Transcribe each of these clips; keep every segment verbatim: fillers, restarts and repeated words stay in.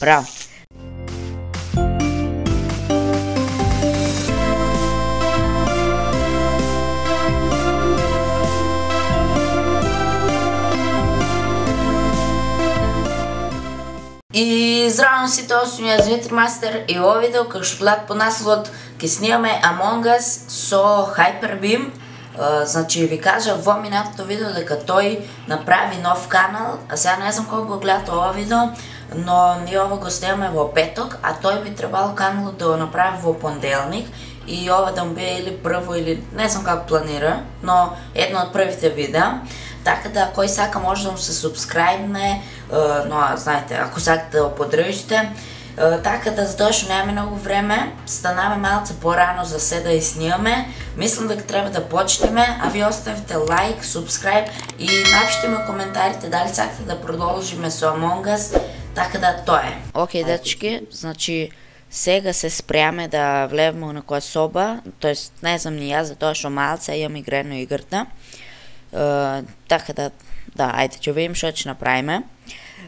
Браво! И здраво сите, осум јас Ветримастер и ово видео како што гледат по насловот ќе снимаме Among Us со Hyperbeam. Значи ви кажа во минатото видео дека тој направи нов канал, а сега не знам колку го гледат ова видео, но ние ова го снимаме во петок, а тој би требало каналот да го направи во понеделник и ова да му биде или прво или не знам како планира, но едно од првите видеа. Така да, кој сака може да му се субскрайбне, но знаете, ако сакате да го поддржите. Така да, затоа што немаме многу време, станаме малце порано за се да ја снимаме. Мислам дека треба да почнеме, а ви оставите лайк, субскрайб и напишете ми коментарите дали сакате да продолжиме со Among Us. Така да, тоа е. Океј, дечки, значи сега се спреаме да влеземе у некоја соба, тоест не знам ни јас, затоа што малце јам игрено играта. Uh, така да, да, ајде, ќе видим што ќе направиме.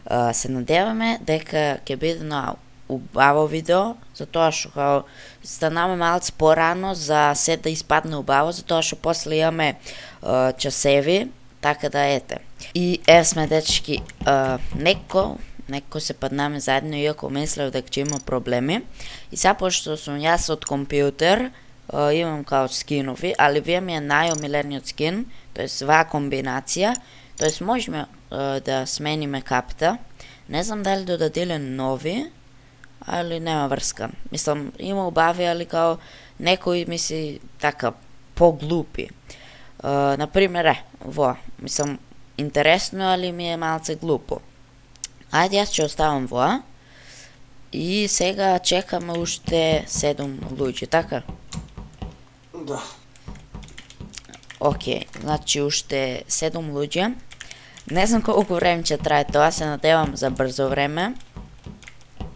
Uh, се надеваме дека ќе биде на убаво видео, затоа што као станаме малце порано за се да испадне убаво, затоа што после имаме uh, часеви, така да ете. И е сме, дечки, uh, неко, неко се паднаме заедно, иако мислев дека ќе има проблеми. И сега, пошто сум јас од компјутер, uh, имам као скинови, али вие ми е најомилениот скин, тоест ваа комбинација, тоест можеме uh, да смениме капта. Не знам дали додаделе нови, али нема врска. Мислам, има убави, али као некои мисли така поглупи. Uh, например, е, во, мислам, интересно, али ми е малце глупо. Ајде, јас ќе оставам во. И сега чекаме уште седум луѓе, така? Да. Океј, значи уште седум луѓе. Не знам колку време ќе трае тоа, се надевам за брзо време.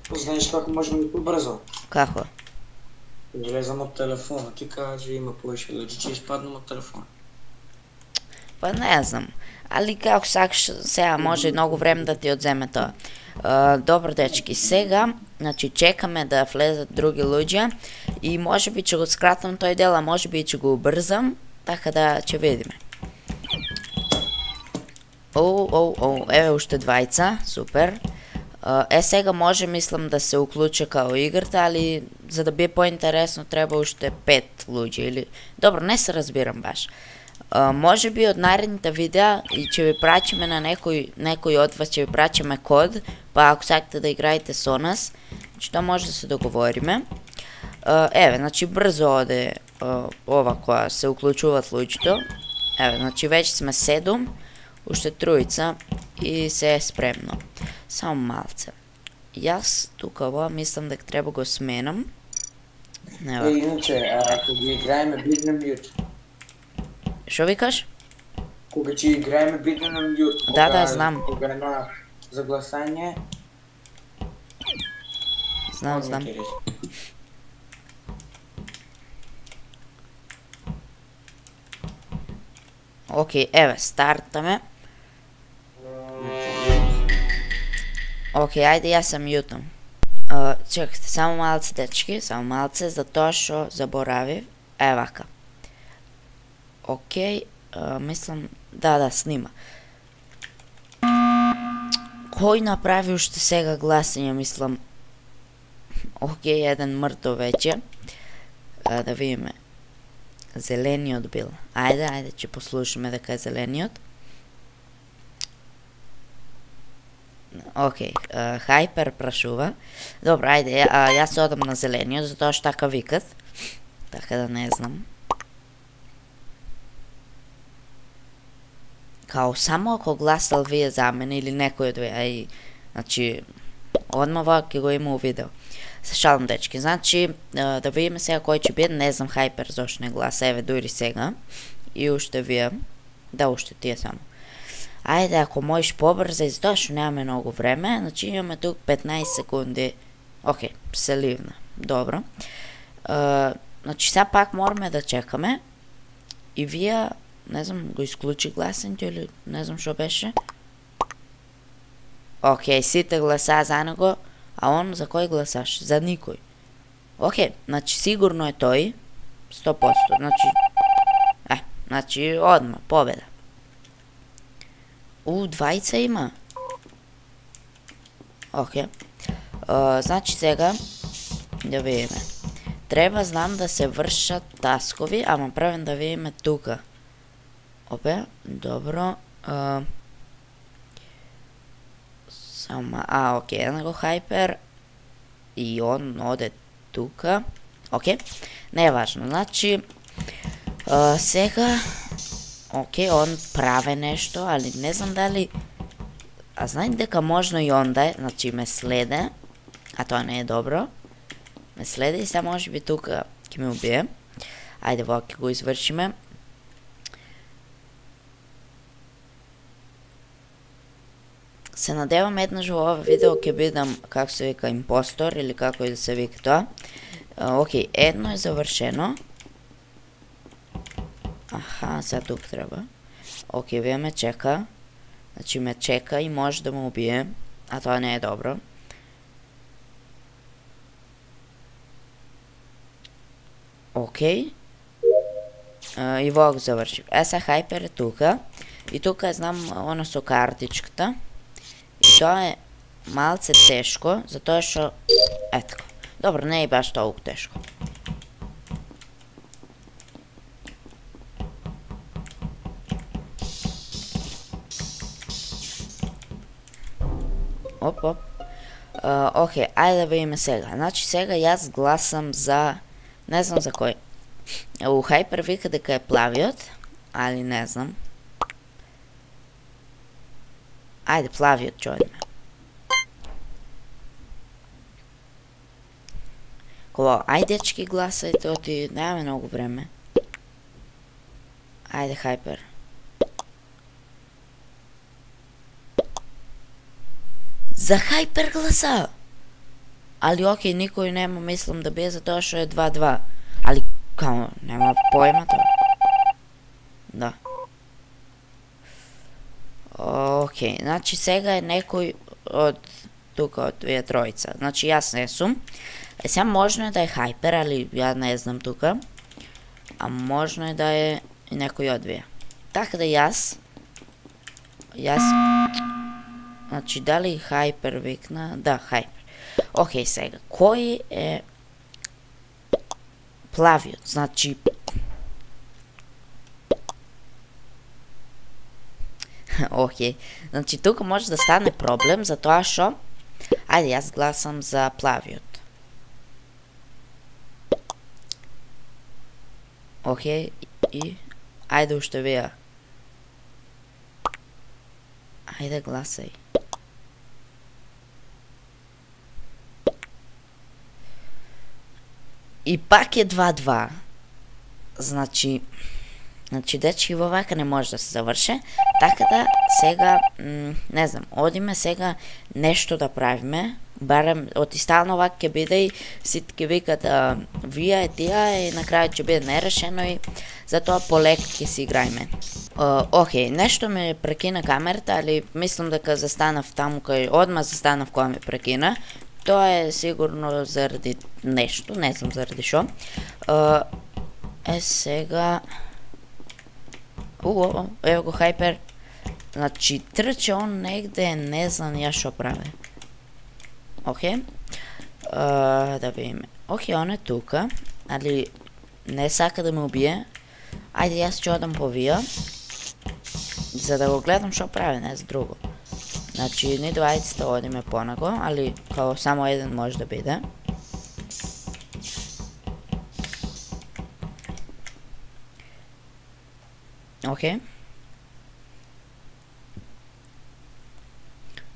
Знаеш како можеме да побрзо? Како? Излезам од телефона, ти кажи има повеќе луѓе, ќе испаднам од телефона. Па не знам, али како сакаш, сега може многу време да ти одземе тоа. Uh, добро, дечки, сега, значи чекаме да влезат други луѓе и може би ќе го скратам тој дел, а може би ќе го убрзам. Така да ќе видиме. Оу, оу, оу, еве уште двајца, супер. Е, сега може, мислам, да се уклуча као играта, али за да биде поинтересно треба уште пет луѓе или... Добро, не се разбирам баш. Може би од наредните видеа и ќе ви прачиме на некој, некој од вас, ќе ви прачиме код, па ако сакате да играете со нас, што може да се договориме. Еве, значи брзо оде Uh, ова која се уклучуваат луѓето. Еве, значи веќе сме седум, уште тројца и се е спремно. Само малце. Јас тука ова мислам дека треба го сменам. Е, иначе, ако ги играеме бидне мјут. Шо викаш? Кога ќе играеме бидне на мјут. Да, да, знам. Кога на загласање. Знам, знам. Океј, еве, стартаме. Океј, ајде јас се мјутам. Чекайте, само малце, дечки, само малце, затоа што заборавив. Е, вака. Океј, мислам, да, да, снима. Кој направи уште сега гласање, мислам. Океј, еден мртов веќе. Да видиме. Зелениот бил. Ајде, ајде, ќе послушаме дека е зелениот. Океј, Хайпер прашува. Добро, ајде, јас се одам на зелениот, затоа што така викат. Така да не знам. Као само ако гласал вие за мене или некој од вие, ај, значи, одмава ќе го има у видео. Се шалам, дечки, значи, да видиме сега кој ќе биде, не знам Хайпер зашто не гласа, еве дури сега. И уште вие, да, уште тие само. Ајде, ако можеш побрза, затоа што немаме многу време, значи имаме тук петнаесет секунди. Океј, се ливна, добро. Значи, сега пак мораме да чекаме. И вие, не знам, го исклучи гласенето или не знам што беше. Океј, сите гласа за него. А он за кој гласаш? За никој. Океј, значи сигурно е тој. сто проценти. Значи, е, значи одма, победа. У, двајца има. Океј. Значи сега, да видиме. Треба, знам, да се вршат таскови, ама правим да видиме тука. Опе, добро. А, сама, а, окей, една го хайпер. И он оде тука. Окей, не е важно. Значи, а, сега, окей, он праве нешто, али не знам дали... А знаете дека можно и он да е, значи ме следе, а тоа не е добро. Ме следе и сега може би тука ќе ме убие. Ајде, во ќе го извршиме. Се надевам еднаш во ова видео ќе бидам, како се вика, импостор или како и да се вика тоа. Океј, едно е завршено. Аха, сега тук треба. Океј, вие ме чека. Значи ме чека и може да ме убие, а тоа не е добро. Океј. И во го завршив. Е, са хайпер е тука. И тука знам оно со картичката. И тоа е малце тешко, затоа што... Е така. Добро, не е баш толку тешко. Оп, оп. Океј, ајде да видиме сега. Значи сега јас гласам за... Не знам за кој. У хайпер вика дека е плавиот, али не знам. Ајде, плавиот ќе одиме. Кога, ајде дечки гласајте, оти немаме многу време. Ајде, хайпер. За хайпер гласа! Али окей, никој нема, мислам да бе, затоа што е два-два. Али, као, нема поема тоа. Да. Океј, значи сега е некој од тука, од вие тројца. Значи јас не сум. Е, сега можно е да е хайпер, али ја не знам тука. А можно е да е и некој од вие. Така да јас... Јас... Значи, дали хайпер викна? Да, хайпер. Океј, сега, кој е плавиот? Значи... Океј, значи тука може да стане проблем, затоа што... Ајде, јас гласам за плавиот. Океј, и... Ајде уште вие. Ајде, гласај. И пак е два-два. Значи, значи дечки во вака не може да се заврше. Така да сега, не знам, одиме сега нешто да правиме. Барем, оти стално вака ќе биде и сите ќе викат вие е тија и на крај ќе биде нерешено и затоа полек ќе си играјме. Океј, нешто ме прекина камерата, али мислам дека застанав таму кај одма застанав кога ме прекина. Тоа е сигурно заради нешто, не знам заради шо. Е, сега... Уо, ево го хайпер. Значи, трче он негде, не знам ја шо прави. Океј. Да видиме. Океј, он е тука, али не сака да ме убие. Ајде, јас ќе одам по вија, за да го гледам шо прави, не за друго. Значи, ни двајцата одиме понаго, али као само еден може да биде. Океј.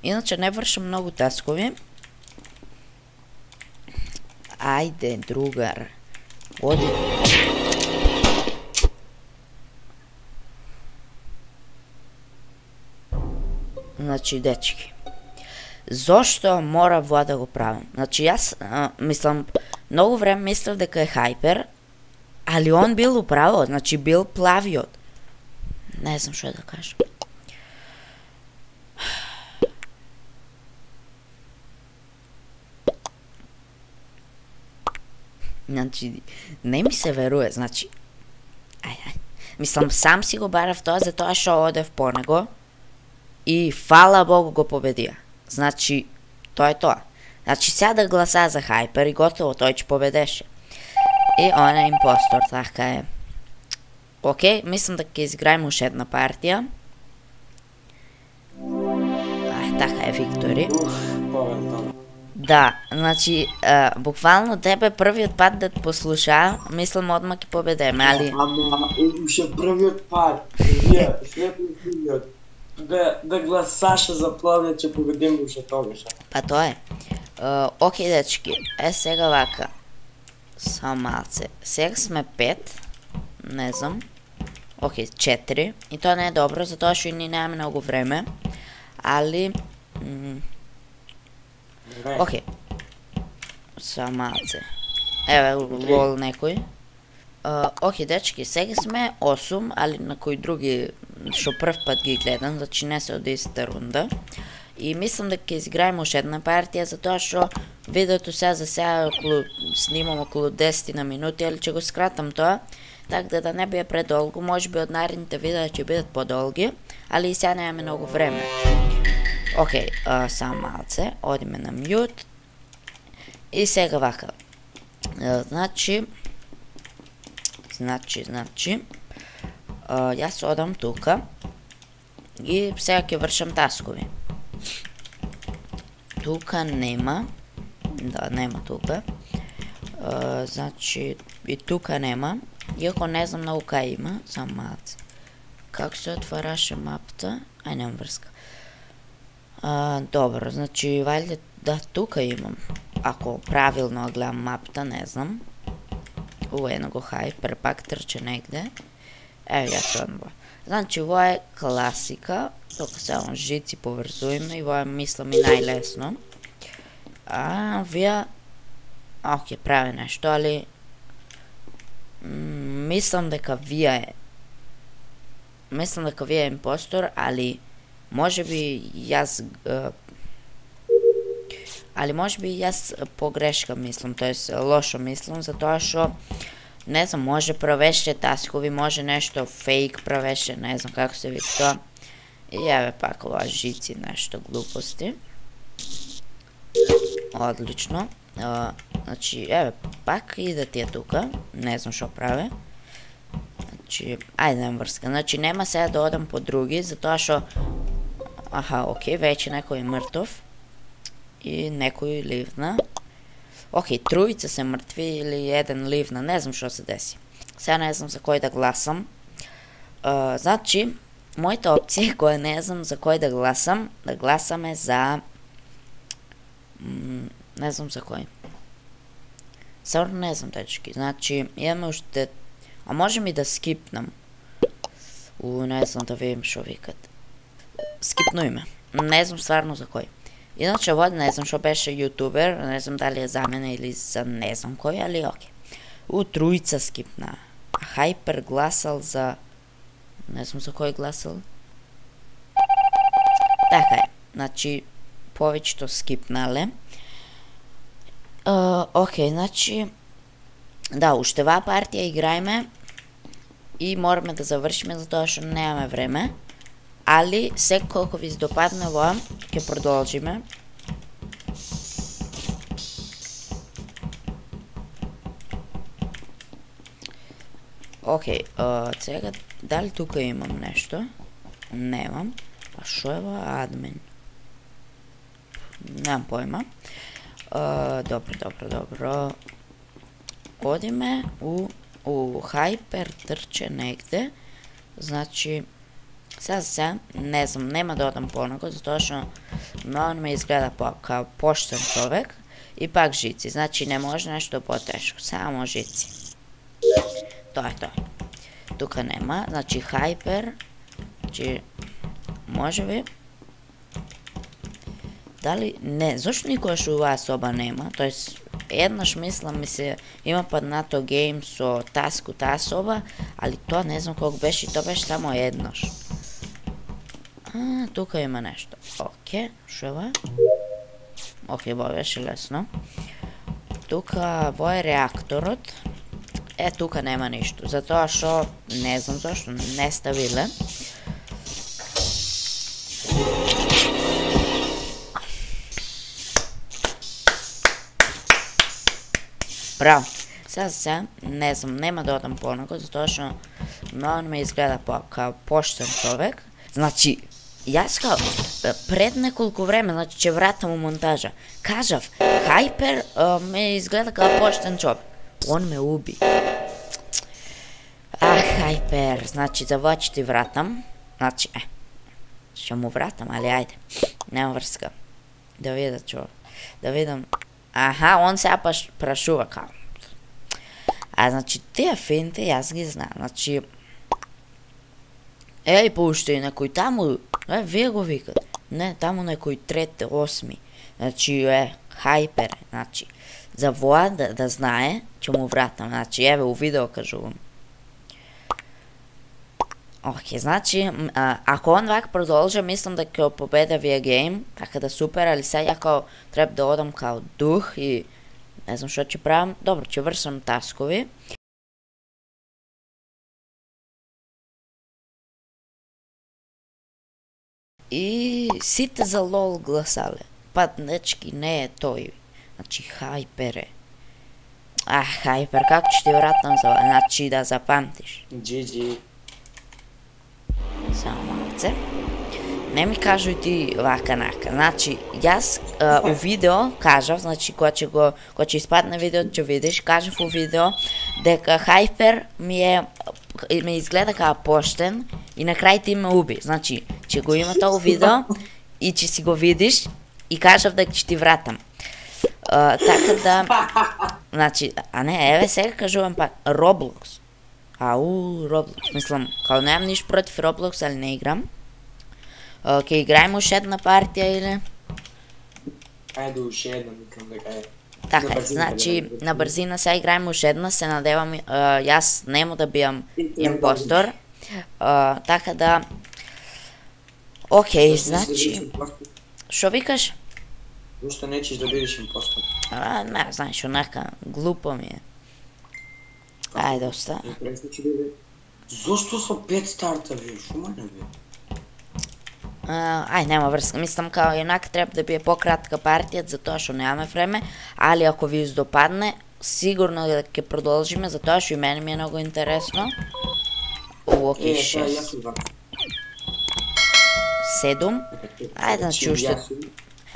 Иначе не вршам многу таскови. Ајде, другар. Оди. Значи, дечки, зошто мора во да го правам? Значи, јас, а, мислам, многу време мислев дека е хайпер, али он бил управо, значи бил плавиот. Не знам што да кажам. Значи, не ми се веруе, значи, ај, ај, мислам, сам си го барав тоа, затоа што одев по него и фала Богу го победија. Значи, тоа е тоа. Значи, сега да гласа за Хайпер и готово, тој ќе победеше. И он е импостор, така е. Океј, мислам да ќе изиграем уште една партија. Ах, така е, Виктори. Уф, победа. Да, значи, а, буквално тебе првиот пат да те послуша, мислам одма ќе победеме, али... Ама, уште првиот пат, вие, следниот, да, да гласаше за плавија, ќе победиме уште тогаш. Па тоа е. Uh, Океј, дечки, е сега вака. Само малце. Сега сме пет, не знам. Океј, четири. И тоа не е добро, затоа што и ни немаме многу време. Али... Океј. Само малце. Еве, лол некој. Океј, дечки, сега сме осум, али на кои други што прв пат ги гледам, значи не се од истата рунда. И мислам да ќе изиграем уште една партија, затоа што видеото сега за сега околу, снимам околу десет на минути, али ќе го скратам тоа, така да, да не биде предолго, може би од наредните видеа ќе бидат подолги, али и сега немаме многу време. Океј, а, само малце, одиме на мјут. И сега вака. А, значи, значи, значи, а, јас одам тука и сега ќе вршам таскови. Тука нема. Да, нема тука. Uh, значи, и тука нема. Иако не знам многу кај има. Само малце. Како се отвараше мапта? Ај, немам врска. Uh, добро, значи, валјде, да, тука имам. Ако правилно гледам мапта, не знам. У, ено го Хайпер, пак трче негде. Ево, ја однова. Значи, ово е класика. Тука само жици поврзуваме и ово мислам и најлесно. А, вие... Океј, прави нешто, али... Мислам дека вие е... Мислам дека вие е импостор, али... Може би јас... Али може би јас погрешка мислам, тоест лошо мислам, затоа што... Не знам, може правеше таскови, може нешто фейк правеше, не знам како се вика тоа. И еве пак ова жици, нешто глупости. Одлично. А, значи, еве, пак иде тие тука. Не знам што праве. Значи, ајде немам врска. Значи, нема сега да одам по други, затоа што... Аха, окей, веќе некој е мртов. И некој ливна. Океј, тројца се мртви или еден ливна, не знам што се деси. Сега не знам за кој да гласам. А, значи, мојата опција која не знам за кој да гласам, да гласаме за... М, не знам за кој. Стварно не знам, дечки. Значи, имаме уште... А можем и да скипнам. У, не знам да видим што викат. Скипнујме. Не знам стварно за кој. Иначе води, не знам што беше јутубер, не знам дали е за мене или за не знам кој, али окей. У, тројца скипна. А Хайпер гласал за... Не знам за кој гласал. Така е. Значи, повеќето скипнале. Uh, окей, значи... Да, уште ва партија играеме и мораме да завршиме затоа што немаме време. Али, сек колку ви допадне ова, ќе продолжиме. Океј, okay, сега, дали тука имам нешто? Немам. А шо е ова админ? Немам појма. Uh, добро, добро, добро. Одиме у, у Хайпер трче негде. Значи, сега за сега, не знам, нема да одам по него, затоа што многу ме изгледа по, као поштен човек. И пак жици, значи не може нешто потешко, само жици. Тоа е тоа. Тука нема, значи Хайпер, значи, може би. Дали, не, зашто никојаш оваа соба нема, тоест, еднаш мислам ми се има паднато гейм со таску таа соба, али тоа не знам колку беше и тоа беше само еднаш. А, тука има нешто. Океј, шо е ова? Океј, ова беше лесно. тука во е реакторот. Е, тука нема ништо, затоа што не знам зашто не ставиле. Браво. Сега се, не знам, нема да одам понаго, затоа што многу ме изгледа по, као поштен човек. Значи, јас као пред неколку време, значи ќе вратам у монтажа, кажав, Хайпер а, ме изгледа као поштен човек. Он ме уби. Ах, Хайпер, значи за во ќе ти вратам. Значи, е, ќе му вратам, али ајде, нема врска. Да видам чо, да видам. Аха, он сега паш прашува као. А значи тие финте јас ги знам, значи еј, поуште и некој таму, е, вие го викат. Не, таму некој трет, осми. Значи, е, Хайпер, значи, за воа да, да знае, ќе му вратам, значи, еве, у видео кажувам. Океј, значи, а, ако он вак продолжа, мислам да ќе победа вие гейм, така да супер, али сега као треба да одам као дух и не знам што ќе правам. Добро, ќе вршам таскови. И сите за лол гласале. Па, дечки, не е тој. Значи, Хайпер е. Ах, Хайпер, како ќе ти вратам за... Значи, да запамтиш. джи джи. Само малце. Не ми кажуј ти вака нака. Значи, јас а, у видео кажав, значи кога ќе го кога ќе испадне видеото ќе видиш, кажав у видео дека Хайпер ми е ме изгледа као поштен и на крај ти ме уби. Значи, ќе го има тоа у видео и ќе си го видиш и кажав дека ќе ти вратам. А, така да, значи, а не, еве сега кажувам пак Roblox. Ау, Roblox, мислам, као немам ништо против Roblox, али не играм. Ке играем уште една партија или? Ајде уште една, мислам дека е. Така, значи, на брзина сега играем уште една, се надевам, јас нему да бијам импостор. Така да, окей, значи, шо викаш? Зошто нечеш да бидеш импостор? А, не, знаеш, онака, глупо ми е. Ајде, оста. Зошто со пет старта, вие, шо мане, бе? Uh, ај, нема врска, мислам као еднак треба да биде пократка партија, затоа што немаме време, али ако ви издопадне, сигурно да ќе продолжиме, затоа што и мене ми е многу интересно. Океј, шест. Седум. Ајде, значи уште...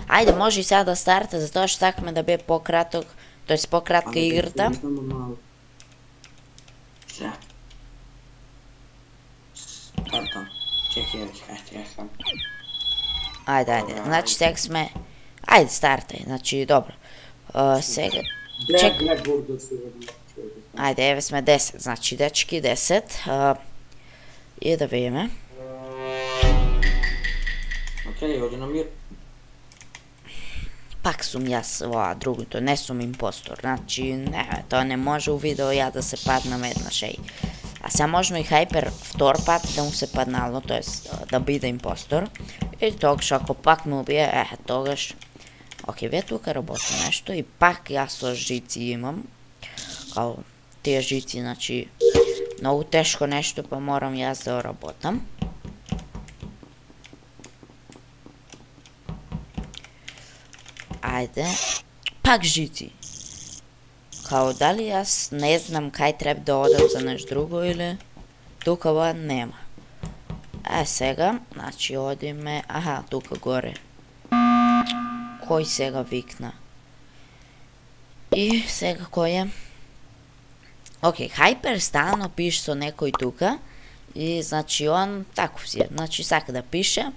Ајде, може и сега да старта, затоа што сакаме да биде пократок, тоест пократка играта. Сега. Стартам. Чекай, чекай, чекай. Ајде, ајде, значи сега сме... Ајде, стартај, значи, добро. Uh, сега... Чек... Ајде, еве сме десет, значи, дечки, десет. Uh, и да видиме. Океј, оди на мир. Пак сум јас ова другото, не сум импостор, значи, не, тоа не може у видео ја да се паднам еднаш, еј. А сега можно и Хайпер втор пат да му се паднало, тоест да биде импостор. И тогаш ако пак ме убие, е, тогаш... Океј, ве тука работи нешто и пак јас со жици имам. Као тие жици, значи, многу тешко нешто, па морам јас да работам. Ајде, пак жици. Као дали јас не знам кај треба да одам за нешто друго или тука ова нема. Е сега, значи одиме, аха, тука горе. Кој сега викна? И сега кој е? Океј, Хайпер стано пише со некој тука и значи он таков си е, значи сака да пише.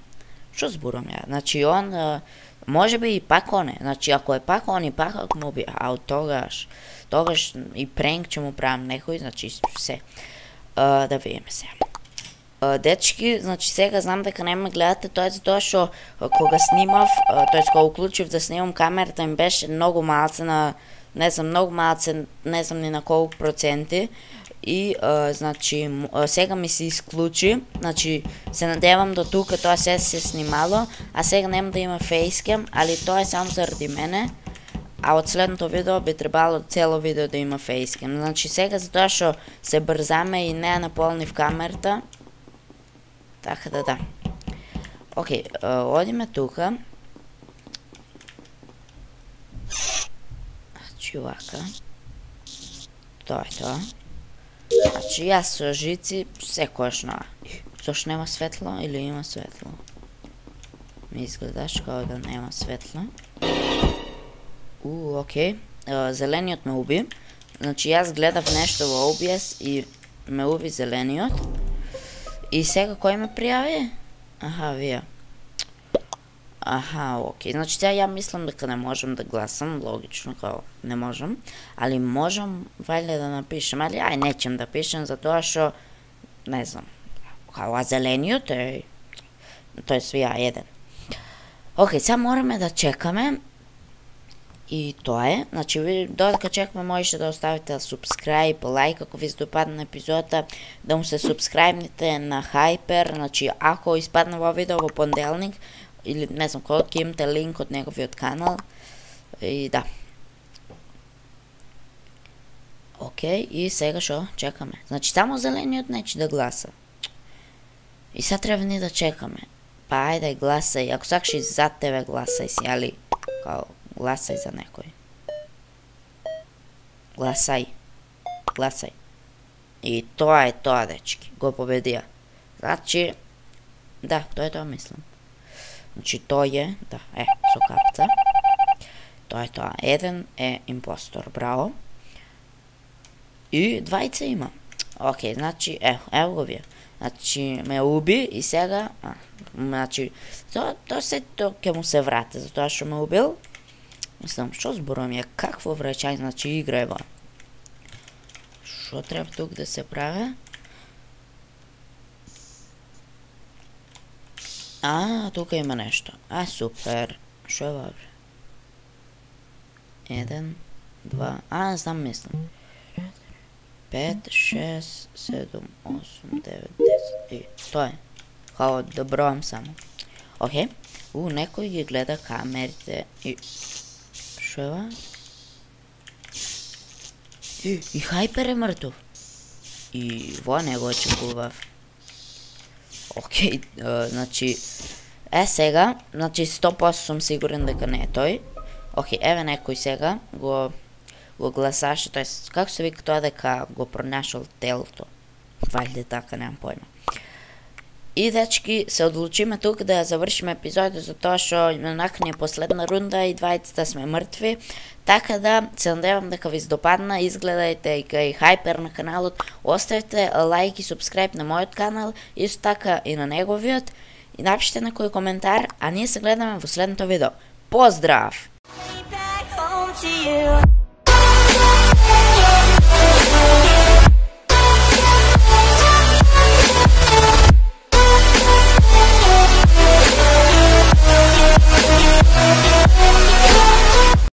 Што зборам ја? Значи он може би и пак он е, значи ако е пак он и пак ако му би, а од тогаш, тогаш и пренк ќе му правам некој, значи се. Uh, да видиме сега. Uh, дечки, значи сега знам дека не ме гледате, тоа е затоа што кога снимав, uh, тоест кога уклучив да снимам камерата ми беше многу малце на, не знам, многу малце, не знам ни на колку проценти. И, uh, значи, uh, сега ми се исклучи, значи, се надевам до тука тоа се се снимало, а сега нема да има фейскем, али тоа е само заради мене. а од следното видео би требало цело видео да има фейскем. Значи сега затоа што се брзаме и не наполнив камерата. Така да да. Океј, одиме тука. Значи вака. Тоа е тоа. Значи јас со жици секојашно. Зошто нема светло или има светло? Ми изгледаш као да нема светло. У, окей. Зелениот ме уби. Значи јас гледав нешто во О Б С и ме уби зелениот. И сега кој ме пријави? Аха, вие. Аха, окей. Значи сега ја мислам дека не можам да гласам, логично као не можам, али можам валјда да напишем, али ај нечем да пишем затоа што не знам. Као а зелениот е тој свија еден. Океј, сега мораме да чекаме. И тоа е, значи ви додека чекаме можете да оставите subscribe, лайк ако ви се допадна епизодата, да му се субскрајбнете на Hyper, значи ако испадне во видео во понеделник или не знам кој, ќе имате линк од неговиот канал и да. Океј, и сега шо чекаме. Значи само зелениот нече да гласа. И сега треба ни да чекаме. Па ајде гласај, ако сакаш и зад тебе гласај си, али као гласај за некој. Гласај. Гласај. И тоа е тоа, дечки. Го победија. Значи, да, тоа е тоа мислам. Значи, тој е, да, е, со капца. Тоа е тоа. Еден е импостор, браво. И двајца има. Океј, значи, ево, ево го вие. Значи, ме уби и сега, а, значи, тоа, тоа се, тоа ќе му се врате, затоа што ме убил. Мислам, што зборувам ја, какво враќање, значи игра ева. Што треба тук да се прави? А, тука има нешто. А, супер. Што е вабре? Еден, два, а, не знам, мислам. Пет, шест, седум, осум, девет, десет. И тоа е. Хао, да броам само. Океј. У, некој ги гледа камерите и... Шо ева? И, и Hyper е мртов. И во не го очекував. Океј, значи... Е, сега, значи сто проценти сум сигурен дека не е тој. Океј, еве некој сега го... го гласаше, тоест, како се вика тоа дека го пронашал телото? Валјде така, немам појма. И, дечки, се одлучиме тук да завршиме епизодот за тоа што онака ни е последна рунда и двајцата сме мртви. Така да, се надевам дека ви се допадна, изгледајте и кај Hyper на каналот, оставите лайк и субскрайб на мојот канал, исто така и на неговиот, и напишете некој коментар, а ние се гледаме во следното видео. Поздрав! Yeah.